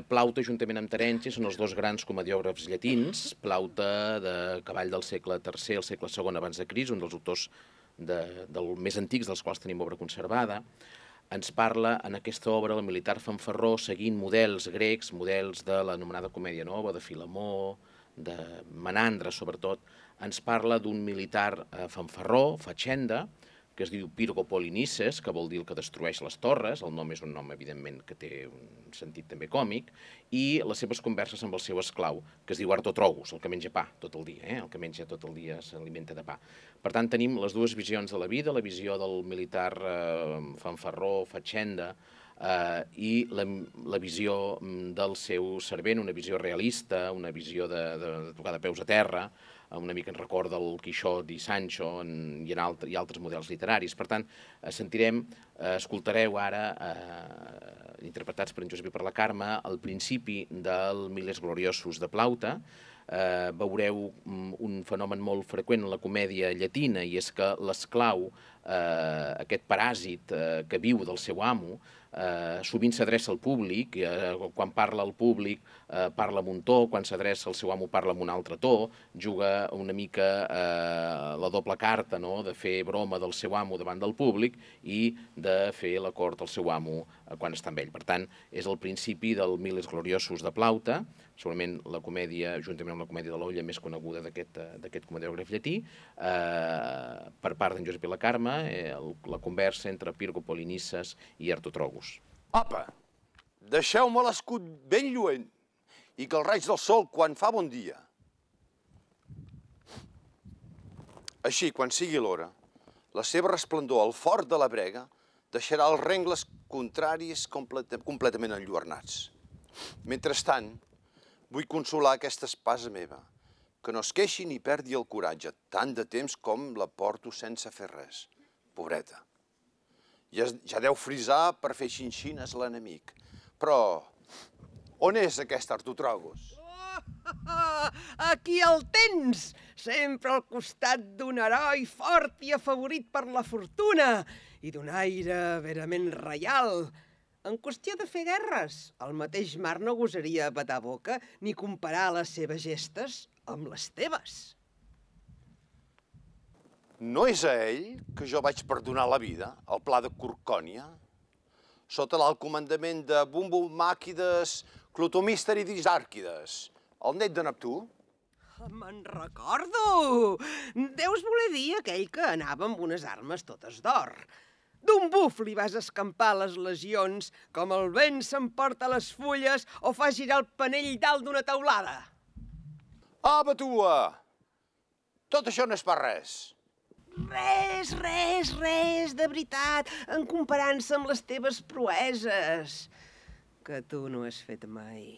Plaute, juntament amb Terenci, són els dos grans comediògrafs llatins. Plaute, de cavall del segle III al segle II abans de Crist, un dels autors més antics dels quals tenim obra conservada. Ens parla en aquesta obra el militar fanfarró seguint models grecs, models de l'anomenada Comèdia Nova, de Filemó, de Menandre, sobretot. Ens parla d'un militar fanfarró, fatxenda, que es diu Pirgo Polinices, que vol dir el que destrueix les torres. El nom és un nom, evidentment, que té un sentit també còmic, i les seves converses amb el seu esclau, que es diu Artotrogus, el que menja pa tot el dia, el que menja tot el dia s'alimenta de pa. Per tant, tenim les dues visions de la vida, la visió del militar fanfarró, fatxenda, i la visió del seu servent, una visió realista, una visió de tocar de peus a terra, una mica en recorda el Quixot i Sancho i altres models literaris. Per tant, escoltareu ara, interpretats per en Josep i per la Carme, al principi del Miles Gloriosus de Plaute. Veureu un fenomen molt freqüent en la comèdia llatina, i és que l'esclau, aquest paràsit que viu del seu amo, sovint s'adreça al públic. Quan parla al públic parla amb un to, quan s'adreça al seu amo parla amb un altre to, juga una mica la doble carta, de fer broma del seu amo davant del públic i de fer la cort al seu amo quan està amb ell. Per tant, és el principi del Miles Gloriosus de Plaute, segurament la comèdia, juntament amb la comèdia de l'Olla, més coneguda d'aquest comediògraf llatí, per part d'en Josep i la Carme, la conversa entre Pirgo Polinices i Artotrogus. Apa, deixeu-me l'escut ben lluent i que el raig del sol quan fa bon dia. Així, quan sigui l'hora, la seva resplendor al fort de la brega deixarà els rengles contraris completament enlluernats. Mentrestant, vull consolar aquesta espasa meva, que no es queixi ni perdi el coratge, tant de temps com la porto sense fer res. Pobreta. Ja deu frisar per fer xinxines l'enemic. Però on és aquest Artotrogus? Aquí el tens, sempre al costat d'un heroi fort i afavorit per la fortuna i d'un aire verament reial. En qüestió de fer guerres, el mateix mar no gosaria badar boca ni comparar les seves gestes amb les teves. No és a ell que jo vaig perdonar la vida, al pla de Corcònia, sota l'alt comandament de Bumbulmàquides, Clotomíster i Disàrquides, el net de Neptú? Me'n recordo! Deus voler dir aquell que anava amb unes armes totes d'or. D'un buf li vas escampar les legions, com el vent s'emporta les fulles o fa girar el panell dalt d'una teulada. Ah, batua! Tot això no és per res. Res, de veritat, en comparança amb les teves proeses, que tu no has fet mai.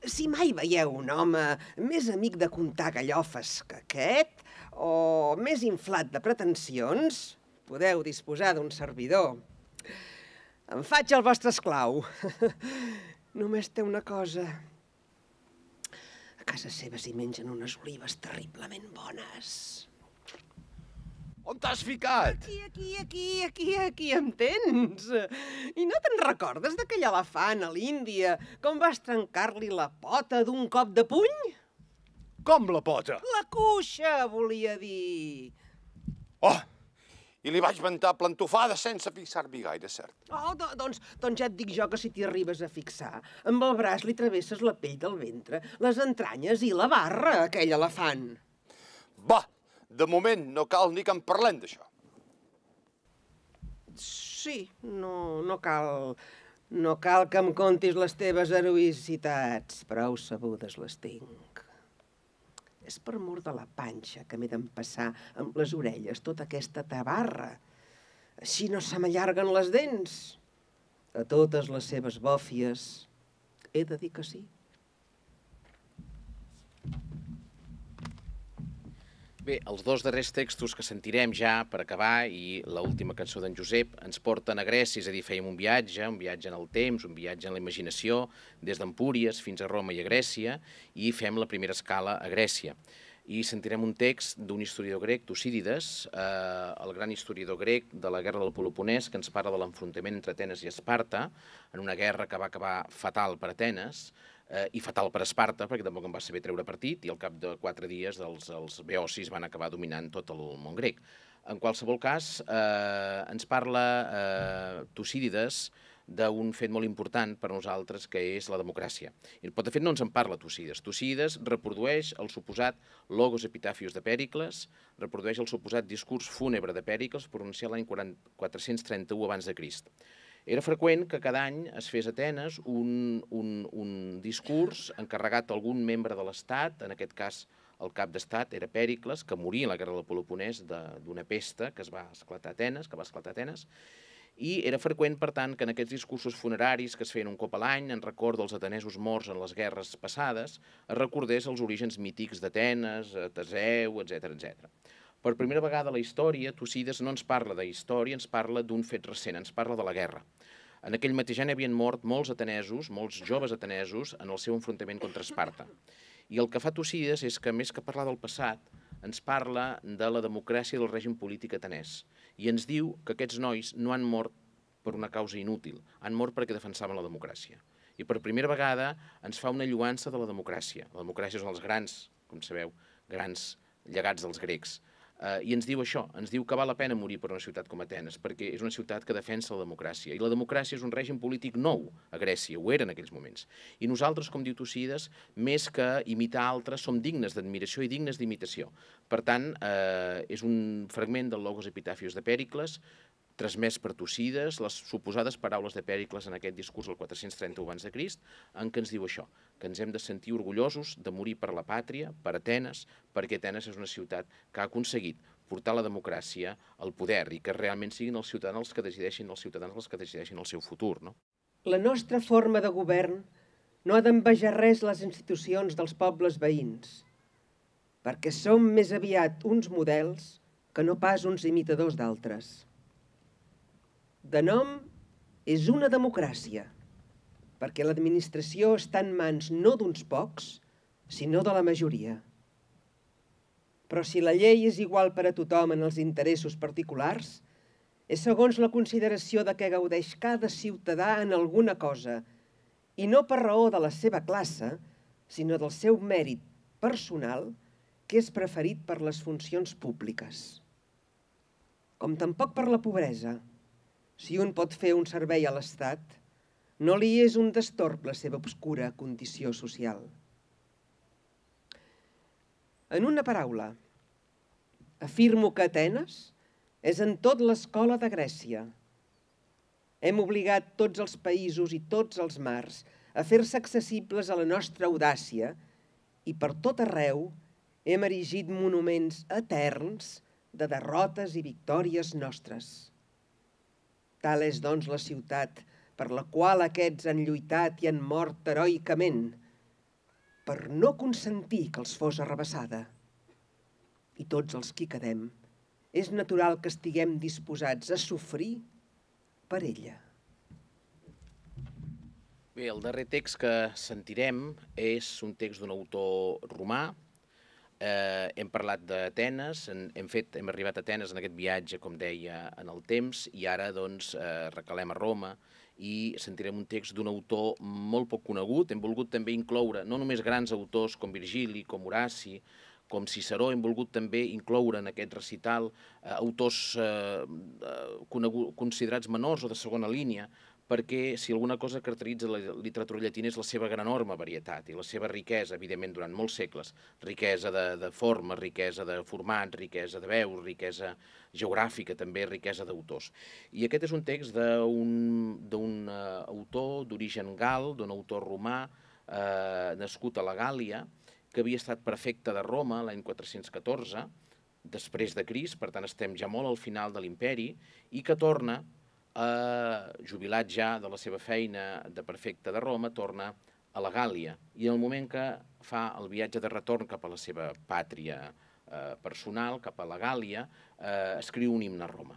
Si mai veieu un home més amic de contar gallofes que aquest, o més inflat de pretensions, podeu disposar d'un servidor. Em faig el vostre esclau. Només té una cosa. A casa seva s'hi mengen unes olives terriblement bones. On t'has ficat? Aquí em tens. I no te'n recordes d'aquell elefant a l'Índia, com vas trencar-li la pota d'un cop de puny? Com la pota? La cuixa, volia dir. Oh, i li vaig ventar plantofada sense fixar-m'hi gaire, cert. Oh, doncs ja et dic jo que si t'hi arribes a fixar, amb el braç li travesses la pell del ventre, les entranyes i la barra, aquell elefant. Va, de moment no cal ni que en parlem d'això. Sí, no cal que em contis les teves heroïcitats, prou sabudes les tinc. És per mor de la panxa que m'he d'empassar amb les orelles tota aquesta tabarra. Així no se m'allarguen les dents. A totes les seves bòfies he de dir que sí. Bé, els dos darrers textos que sentirem ja per acabar i l'última cançó d'en Josep ens porten a Grècia, és a dir, fèiem un viatge en el temps, un viatge en la imaginació, des d'Empúries fins a Roma i a Grècia, i fem la primera escala a Grècia. i sentirem un text d'un historiador grec, Tucídides, el gran historiador grec de la guerra del Peloponès, que ens parla de l'enfrontament entre Atenes i Esparta, en una guerra que va acabar fatal per Atenes, i fatal per Esparta, perquè tampoc en va saber treure partit, i al cap de 4 dies els beocis van acabar dominant tot el món grec. En qualsevol cas, ens parla Tucídides d'un fet molt important per a nosaltres, que és la democràcia. Però, de fet, no ens en parla Tucídides. Tucídides reprodueix el suposat logos epitafius de Pèricles, reprodueix el suposat discurs fúnebre de Pèricles pronunciat l'any 431 abans de Crist. Era freqüent que cada any es fes a Atenes un discurs encarregat a algun membre de l'Estat, en aquest cas el cap d'estat era Pèricles, que moria en la guerra del Peloponès d'una pesta que va esclatar a Atenes, i era freqüent, per tant, que en aquests discursos funeraris que es feien un cop a l'any, en record dels atenesos morts en les guerres passades, es recordés els orígens mítics d'Atenes, Teseu, etc. Per primera vegada a la història, Tucídides no ens parla de història, ens parla d'un fet recent, ens parla de la guerra. En aquell mateix any havien mort molts atenesos, molts joves atenesos, en el seu enfrontament contra Esparta. I el que fa Tucídides és que, més que parlar del passat, ens parla de la democràcia del règim polític atenès. I ens diu que aquests nois no han mort per una causa inútil, han mort perquè defensaven la democràcia. I per primera vegada ens fa una lloança de la democràcia. La democràcia és un dels grans, com sabeu, grans llegats dels grecs. I ens diu això, ens diu que val la pena morir per una ciutat com Atenes, perquè és una ciutat que defensa la democràcia. I la democràcia és un règim polític nou a Grècia, ho era en aquells moments. I nosaltres, com diu Tucídides, més que imitar altres, som dignes d'admiració i dignes d'imitació. Per tant, és un fragment del Logos Epitafius de Pèricles, transmès per Tucídides, les suposades paraules de Pèricles en aquest discurs del 431 abans de Crist, en què ens diu això, que ens hem de sentir orgullosos de morir per la pàtria, per Atenes, perquè Atenes és una ciutat que ha aconseguit portar la democràcia al poder i que realment siguin els ciutadans els que decideixin el seu futur, no? La nostra forma de govern no ha d'envejar res les institucions dels pobles veïns, perquè som més aviat uns models que no pas uns imitadors d'altres. De nom és una democràcia, perquè l'administració està en mans no d'uns pocs, sinó de la majoria. Però si la llei és igual per a tothom en els interessos particulars, és segons la consideració de què gaudeix cada ciutadà en alguna cosa, i no per raó de la seva classe, sinó del seu mèrit personal, que és preferit per les funcions públiques. Com tampoc per la pobresa. Si un pot fer un servei a l'Estat, no li és un destorb la seva obscura condició social. En una paraula, afirmo que Atenes és en tot l'escola de Grècia. Hem obligat tots els països i tots els mars a fer-se accessibles a la nostra audàcia i per tot arreu hem erigit monuments eterns de derrotes i victòries nostres. Tal és, doncs, la ciutat per la qual aquests han lluitat i han mort heroicament, per no consentir que els fos arrabassada. I tots els que hi quedem, és natural que estiguem disposats a sofrir per ella. Bé, el darrer text que sentirem és un text d'un autor romà. Hem parlat d'Atenes, hem arribat a Atenes en aquest viatge, com deia, en el temps, i ara doncs recalem a Roma i sentirem un text d'un autor molt poc conegut. Hem volgut també incloure no només grans autors com Virgili, com Horaci, com Ciceró, hem volgut també incloure en aquest recital autors considerats menors o de segona línia, perquè si alguna cosa caracteritza la literatura llatina és la seva gran enorme varietat i la seva riquesa, evidentment, durant molts segles, riquesa de forma, riquesa de format, riquesa de veus, riquesa geogràfica, també riquesa d'autors. I aquest és un text d'un autor d'origen gal, d'un autor romà, nascut a la Gàl·lia, que havia estat prefecte de Roma l'any 414, després de Crist, per tant estem ja molt al final de l'imperi, i que torna, jubilat ja de la seva feina de prefecte de Roma, torna a la Gàl·lia. I en el moment que fa el viatge de retorn cap a la seva pàtria personal, cap a la Gàl·lia, escriu un himne a Roma.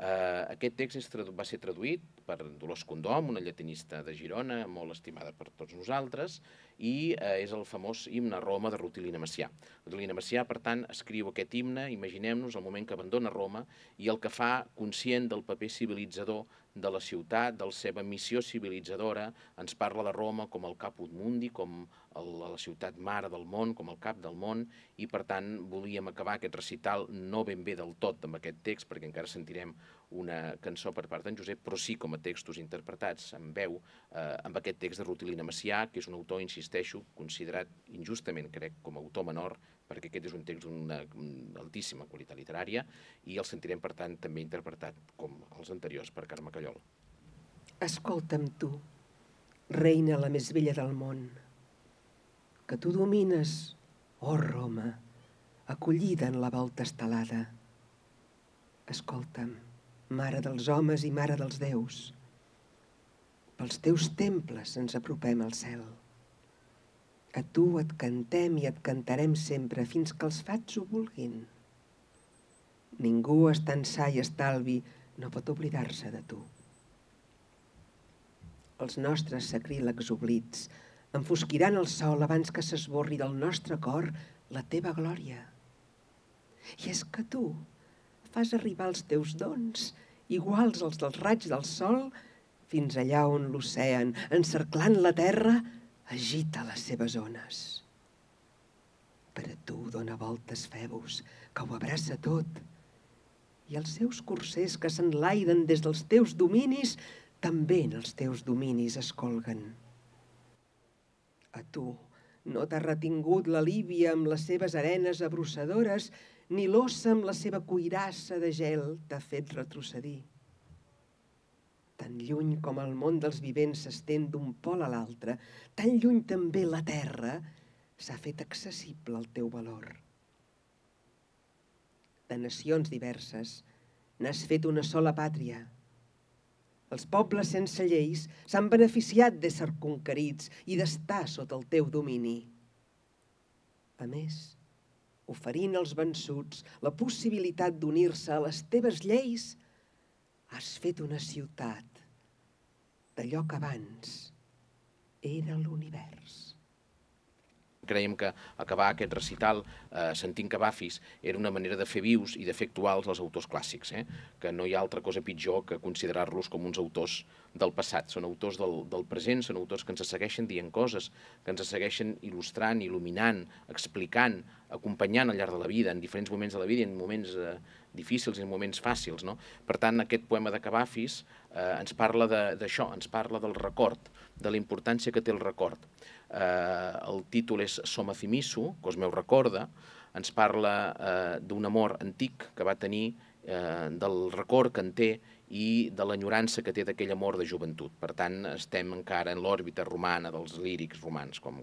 Aquest text va ser traduït per Dolors Condom, una llatinista de Girona, molt estimada per tots nosaltres, i és el famós himne a Roma de Rutilina Macià. Rutilina Macià, per tant, escriu aquest himne, imaginem-nos el moment que abandona Roma i el que fa, conscient del paper civilitzador de la ciutat, de la seva missió civilitzadora, ens parla de Roma com el caput mundi, com la ciutat mare del món, com el cap del món, i per tant volíem acabar aquest recital no ben bé del tot amb aquest text, perquè encara sentirem una cançó per part d'en Josep, però sí com a textos interpretats en veu amb aquest text de Rutilina Macià, que és un autor, insisteixo, considerat injustament, crec, com a autor menor, perquè aquest és un text d'una altíssima qualitat literària, i el sentirem, per tant, també interpretat, com els anteriors, per Carme Callol. Escolta'm tu, reina la més bella del món, que tu domines, oh Roma, acollida en la volta estelada. Escolta'm, mare dels homes i mare dels déus, pels teus temples ens apropem al cel. A tu et cantem i et cantarem sempre fins que els fats ho vulguin. Ningú estant sa i estalvi no pot oblidar-se de tu. Els nostres sacrílegs oblits enfosquiran el sol abans que s'esborri del nostre cor la teva glòria. I és que tu fas arribar els teus dons, iguals als dels raigs del sol, fins allà on l'ocean, encerclant la terra, agita les seves ones. Per a tu dona voltes Febus, que ho abraça tot, i els seus corsers que s'enlairen des dels teus dominis també en els teus dominis es colguen. A tu no t'ha retingut la Líbia amb les seves arenes abrossadores, ni l'ossa amb la seva cuirassa de gel t'ha fet retrocedir. Tan lluny com el món dels vivents s'estén d'un pol a l'altre, tan lluny també la terra s'ha fet accessible al teu valor. De nacions diverses n'has fet una sola pàtria. Els pobles sense lleis s'han beneficiat d'ésser conquerits i d'estar sota el teu domini. A més, oferint als vençuts la possibilitat d'unir-se a les teves lleis, has fet una ciutat d'allò que abans era l'univers. Creiem que acabar aquest recital sentint Cavafis era una manera de fer vius i de fer actuals els autors clàssics, que no hi ha altra cosa pitjor que considerar-los com uns autors del passat. Són autors del present, són autors que ens segueixen dient coses, que ens segueixen il·lustrant, il·luminant, explicant, acompanyant al llarg de la vida, en diferents moments de la vida, en moments difícils i en moments fàcils. Per tant, aquest poema de Cavafis ens parla d'això, ens parla del record, de la importància que té el record. El títol és Soma Thimisso, que meu recorda, ens parla d'un amor antic que va tenir, del record que en té i de l'enyorança que té d'aquell amor de joventut. Per tant, estem encara en l'òrbita romana dels lírics romans, com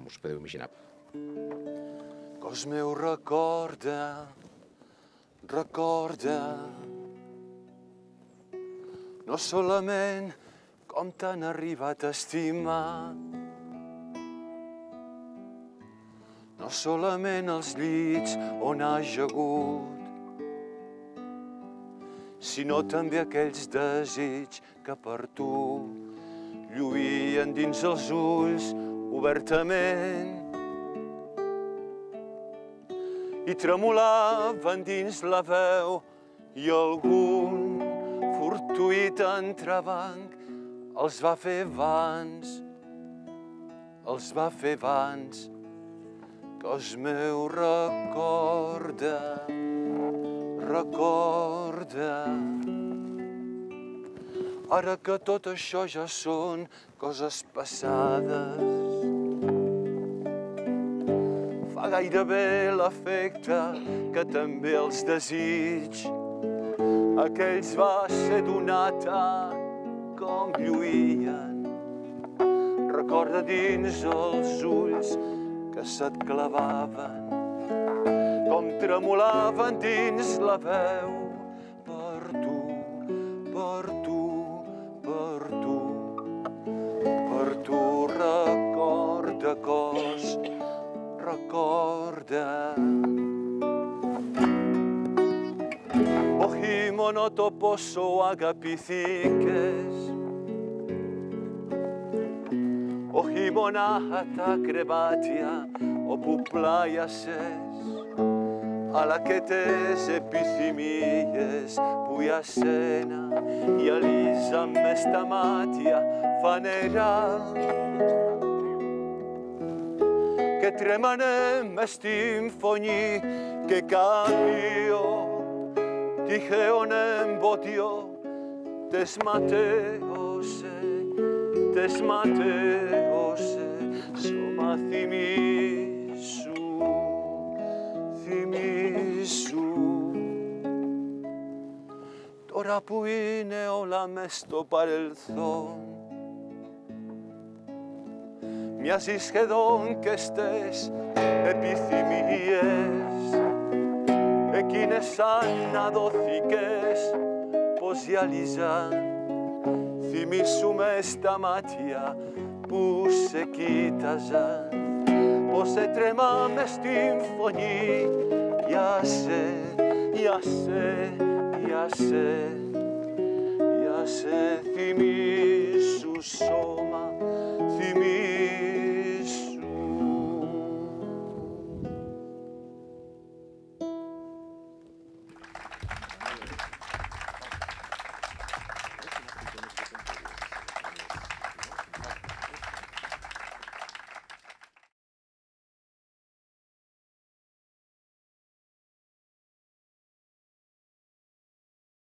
us podeu imaginar. Cos meu recorda, recorda, no solament com t'han arribat a estimar, no solament els llits on has jagut, sinó també aquells desig que per tu lluïen dins els ulls obertament i tremolaven dins la veu i algun fortuït entrebanc els va fer vans, cos meu recorda, recorda. Ara que tot això ja són coses passades, fa gairebé l'efecte que també els desig. Aquells va ser donat a com lluïen. Recorda dins els ulls que se't clavaven, com tremolaven dins la veu per tu, per tu, per tu, per tu. Recorda, cos, recorda. Μόνο το πόσο αγαπηθήκες, όχι μονάχα τα κρεβάτια όπου πλάγιασες, αλλά και τες επιθυμίες που για σένα γυαλίζαμε στα μάτια φανερά και τρέμανε μες στην φωνή και κάποιο τυχαίον εμπόδιο τες ματέωσε, σώμα θυμίσου, τώρα που είναι όλα μες στο παρελθόν, μοιάζει σχεδόν και στες επιθυμίες εκείνες σαν αδόθηκες πως γυαλίζαν. Θυμήσου μες στα μάτια που σε κοίταζαν, πως έτρεμα μες στην φωνή για σε θυμίσου σώμα